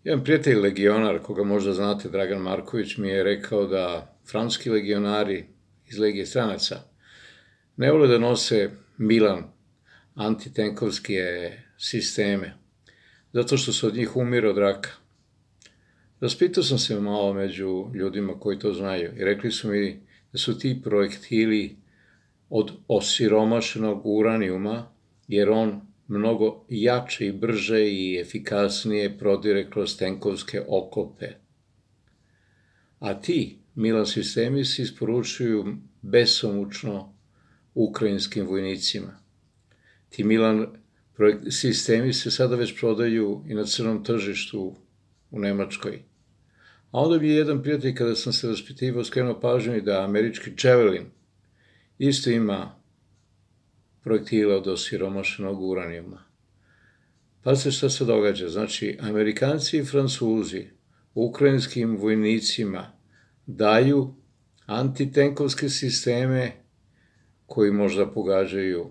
Jedan prijatelj legionar, koga možda znate, Dragan Marković, mi je rekao da francuski legionari iz Legije stranaca ne vole da nose Milan antitenkovske sisteme, zato što se od njih umire od raka. Raspitao sam se malo među ljudima koji to znaju i rekli su mi da su ti projektili od osiromašenog uranijuma, jer on mnogo jače i brže i efikasnije prodire kroz tenkovske oklope. A ti Milan sistemi se isporučuju besomučno ukrajinskim vojnicima. Ti Milan sistemi se sada već prodaju i na crnom tržištu u Nemačkoj. A onda mi je jedan prijatelj, kada sam se raspitivao, skrenuo pažnju i da američki Javelin isto ima projektile od osiromašenog uranijuma. Pazite šta se događa. Znači, Amerikanci i Francuzi ukrajinskim vojnicima daju antitenkovske sisteme koji možda pogađaju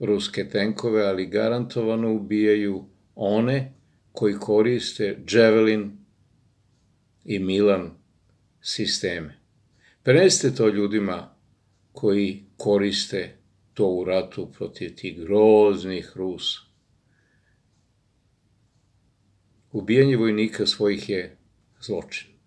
ruske tenkove, ali garantovano ubijaju one koji koriste Javelin i Milan sisteme. Prenesite to ljudima koji koriste to u ratu protiv tih groznih Rusa. Ubijanje vojnika svojih je zločin.